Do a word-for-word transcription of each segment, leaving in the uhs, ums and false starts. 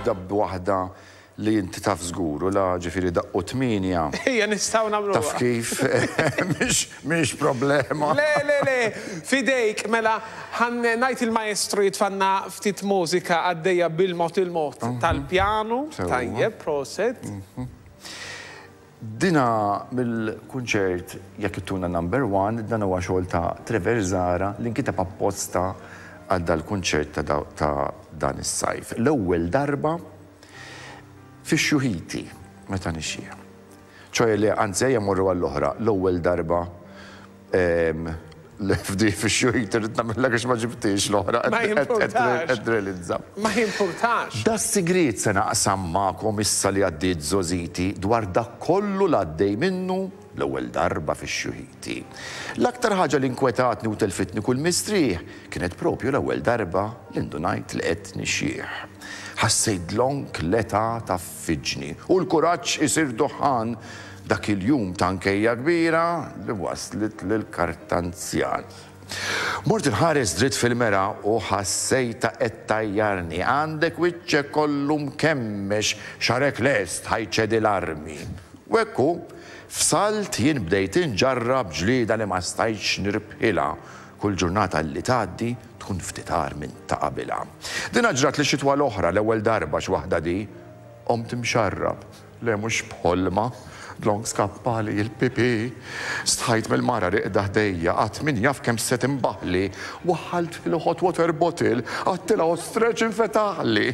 nibda b'waħda li inti taf żgur u la ġifieri daqqu tmienja. Ejja, nistgħu nagħmlu. Taf kif, mhix problema. Le, le, le, fidejk, mela, ħa ngħid il-maestro jitfanna ftit mużika għaddejja bil-mod il-mod tal-pjanu. Tajjeb, prosit. Dina mill-kunċert Jekk Ittuna Number One, dan huwa xogħol ta' Trevor Zara li nkiteb apposta għal dal-kunċert ta' dan is-sajf. L-ewwel darba fi xjuħiti, meta nixjieħ. ċoè li anzi ejja morru għall-oħra, l-ewwel darba l-F D fi xjuħiti rrid nagħmilha għax ma ġibtix l-oħra. Ma jimpurtax. Realizza. Ma jimpurtax. Da sigriet se naqsam magħkom issa li għaddiet żgħożiti dwar dak kollu l-għaddej minnu l-ewwel darba fi xjuħiti. L-aktar ħaġa li nkwetatni u telfitni kull mistrieħ kienet propju l-ewwel darba li ndunajt li qed nixjieħ. Ħassejt dlonk l-età tgħaffiġni u l-kuraġġ isir duħan dak il-jum ta' nkejja kbira li waslit lil-kartanzjan. Mort inħares dritt fil-mera u ħassejta qed tgħajjarni. Għandek wiċċek kollu mkemmex, xagħrek lest ħa jċedi l-armi. U ekku, f'salt jien bdejt inġarrab ġlida li ma stajtx nirbħilha. Kull ġurnata li tgħaddi tkun ftit agħar minn ta' qabilha. Dina ġrat li xitwa l-oħra l-ewwel darba x'waħda di, qomt imxarrab. Le mhux b'ħolma, dlonk skappali il-pipi. Stħajt mill-mara rieqda ħdejja, għad min jaf kemm se timbaħli. Waħħalt fil-hot water bottle, għedtilha stretch infetaħli.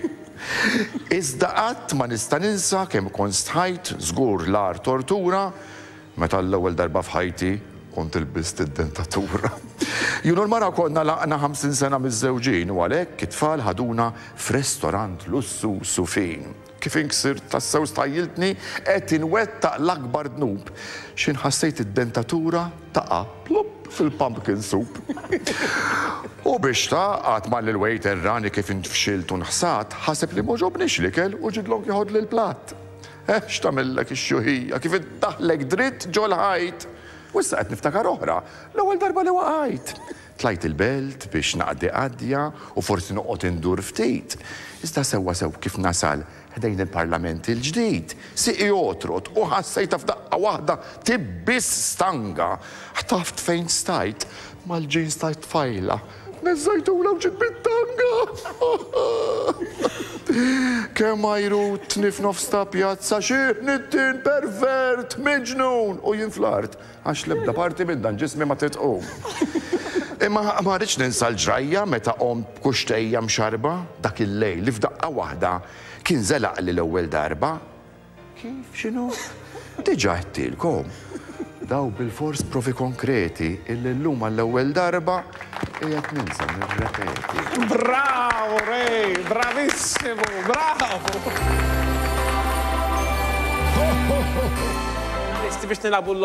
Iżda qatt ma nista' ninsa kemm kont stħajt, żgur l-agħar tortura, meta l-ewwel darba f'ħajti kont ilbist id-dentatura. Jien u l-mara konna lħaqna ħamsin sena miż-żewġin u għalhekk it-tfal ħaduna f'restorant lussuż u fin. Kif inksirt tassew stħajjiltni qed inwettaq l-akbar dnub. X'ħin ħassejt id-dentatura taqa' plup fil-pumpkin soup. U biex taqgħad mal il-waiter rani kif intfxilt u nħsat, ħaseb li m'għoġobnix l-ikel u ġie dlonk jeħodli l-platt. Eh, x'tagħmillek ix-xjuħija, kif iddaħlek dritt ġol-ħajt. U issa qed niftakar oħra, l-ewwel darba li waqajt. Tlajt il-belt biex naqdi qadja u forsi noqgħod indur ftit. Iżda sewwa sew kif nasal ħdejn il-Parlament il-ġdid, siqi għotrot u ħassejta f'daqqa waħda tibbis stanga. Ħtaft fejn stajt mal-jeans ta' tfajla. Neżżajtulha u ġiet bit-tanga. Kemm għajrutni f'nofs ta' pjazza xi nittin pervert miġnun u jien fl-art għax l-ebda parti minn dan ġismi ma titqum. Imma ma rridx ninsa l-ġrajja meta qomt b'kuxtejja mxarba dak il-lejl li f'daqqa waħda kien zelaq li l-ewwel darba. Kif x'inhu? Diġà għedtilkom. Daw bil-fors provi konkreti illi llum għall-ewwel darba qiegħed ninsa nirrepeti. Bravo, Ray, bravissimo, bravo. Lesti biex nilagħbu l